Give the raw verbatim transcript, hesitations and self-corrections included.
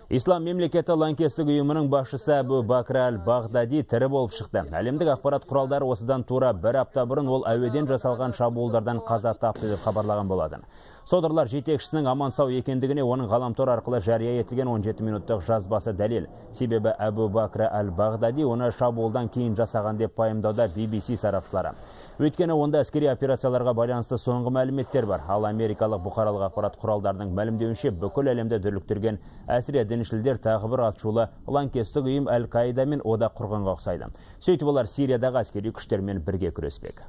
Ислам мемлекеті лаңкестік ұйымының басшысы Абу Бакр аль-Бағдади тірі болып шықты. Әлемдік ақпарат құралдары осыдан тура бір апта бұрын ол әуеден жасалған шабуылдардан қаза тапты деп хабарлаған болатын. Содырлар жетекшісінің аман сау екендігіне оның ғаламтор арқылы жария етілген он жеті минуттық жазбасы дәлел. Себебі Абу Бакр аль-Бағдади оны шабуылдан кейін жасаған деп пайымдауда би би си сарапшылары. Өйткені онда әскери операцияларға байланысты соңғы мәліметтер бар. Ал америкалық бұқаралық ақпарат құралдарының мәлімдеуінше бүкіл әлемді дүрліктірген әсіре діншілдер тағы бір атшулы лаңкестік ұйым Әл-Қаида мен одақ құрғанға ұқсайды. Сөйтіп олар Сириядағы әскери күштермен бірге күреспек.